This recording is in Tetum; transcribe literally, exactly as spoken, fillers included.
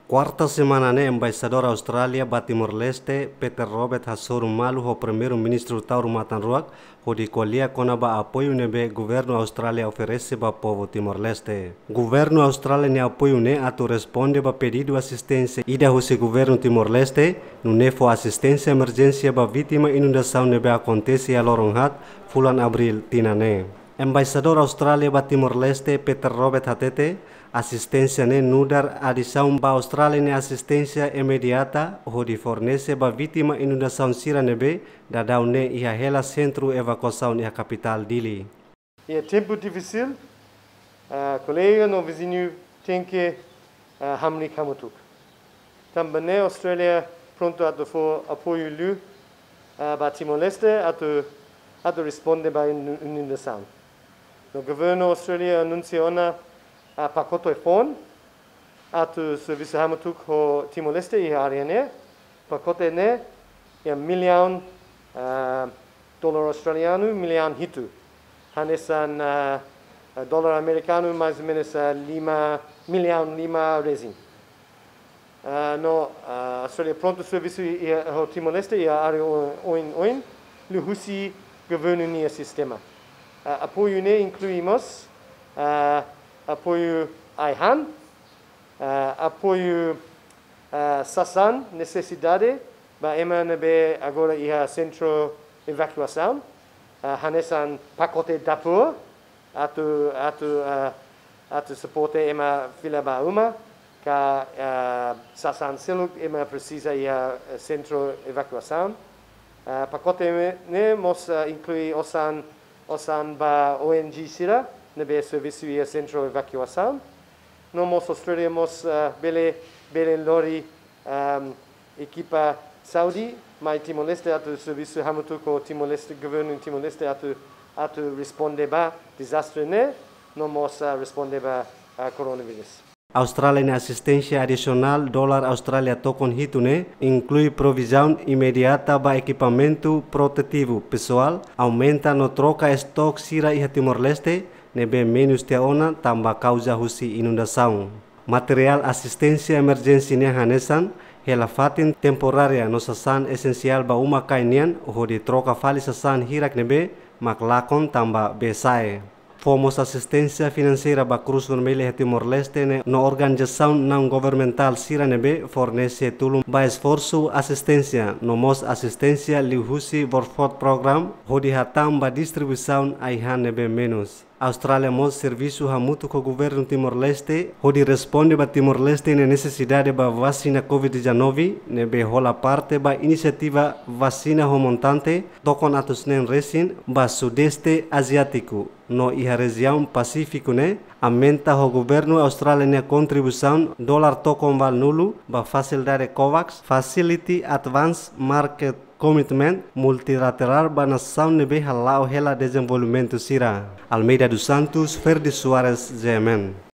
Kuarta semana ne'e, Embaixadór Austrália ba Timor-Leste, Peter Roberts, hasoru malu ho Primeiru-Ministru Taur Matan Ruak, hodi ko'alia kona-ba apoiu ne'ebé Governu Austrália oferese ba povu Timor-Leste. Governu Austrália nia apoiu ne'e atu responde ba pedidu asisténsia ida husi Governu Timor-Leste, nune'e fó asisténsia emerjénsia ba vítima inundasaun ne'ebé akontese iha loron haat, fulan Abríl tinan ne'e. Embaixadór Austrália ba Timor-Leste, Peter Roberts, hatete, asisténsia ne'e nu'udar adisaun ba Austrália nia asisténsia imediata hodi fornese ba vítima inundasaun sira ne'ebé daudaun ne'e iha hela sentru evakuasaun iha kapitál Dili. Iha tempu difisil, ah, kolega no viziñu tenke, ah, hamriik hamutuk. Tanba ne'e Austrália prontu atu fó apoiu liu, ah, ba Timor-Leste atu, atu responde ba inu-, inundasaun. No Governu Austrália anunsia ona, ah, pakote foun atu servisu hamutuk ho Timor-Leste iha área ne'e. Pakote ne'e iha millaun, ah, dolar Australianu, millaun hitu. Hanesan, ah, ah, dolar amerikanu mais ou menus, ah, lima, millaun lima resin. Ah, no, ah, Austrália prontu servisu iha, ho Timor-Leste iha área o-, oin-oin, liuhusi governu nia sistema. Ah, apoiu ne'e inklui mós, ah, apoiu ai-han, ah, apoiu, ah, sasán nesesidade ba ema ne'ebé agora iha sentru evakuasaun, ah, hanesan pakote dapur, atu, atu, ah, atu suporta ema fila ba uma, ka, ah, sasán seluk ema presiza iha, eh, sentru evakuasaun. Ah, pakote ne'e, ne'e mós, ah, inklui osan, osan ba O N G sira ne'ebé servisu iha sentru evakuasaun. No mós Austrália mós, ah, bele, bele lori, ah, ekipa saúde mai Timor-Leste atu servisu hamutuk ho Timor-Leste, governu Timor-Leste atu, atu responde ba dezastre ne'e, no mós, ah, responde ba, ah, koronavírus. Austrália nia asisténsia adisionál dolar Austrália tokon hitu ne'e inklui provizaun imediata ba ekipamentu protetivu pesoál, aumenta no troka estok sira iha Timor-Leste ne'ebé menus tiha ona tanba kauza husi inundasaun. Materiál asisténsia emerjénsia nian hanesan hela fatin temporária no sasán esensiál ba uma-kain nian, hodi troka fali sasán hirak ne'ebé mak lakon tanba bee sa'e. Fó mós asisténsia finanseira ba Krús Vermella iha Timor-Leste ne'e no organizasaun naun-governamentál sira ne'ebé fornese tulun ba esforsu asisténsia, no mós asisténsia liuhusi World Food Programme, hodi hatán ba distribuisaun ai-han ne'ebé menus. Austrália mós servisu hamutuk ho governu Timor-Leste hodi responde ba Timor-Leste nia nesesidade ba vasina covid dezanove, ne'ebé hola parte ba inisiativa Vasina ho Montante, tokon atus neen resin ba Sudeste Aziátiku, no iha rejiaun Pasífiku ne'e, aumenta ho governu Austrália nia kontribuisaun dolar tokon valunulu ba fasilidade COVAX, Facility Advance Market Commitment multilaterál ba nasaun ne'ebé hala'o hela dezenvolvimentu sira. Almeida dos Santos, Ferdi Soares, G M N.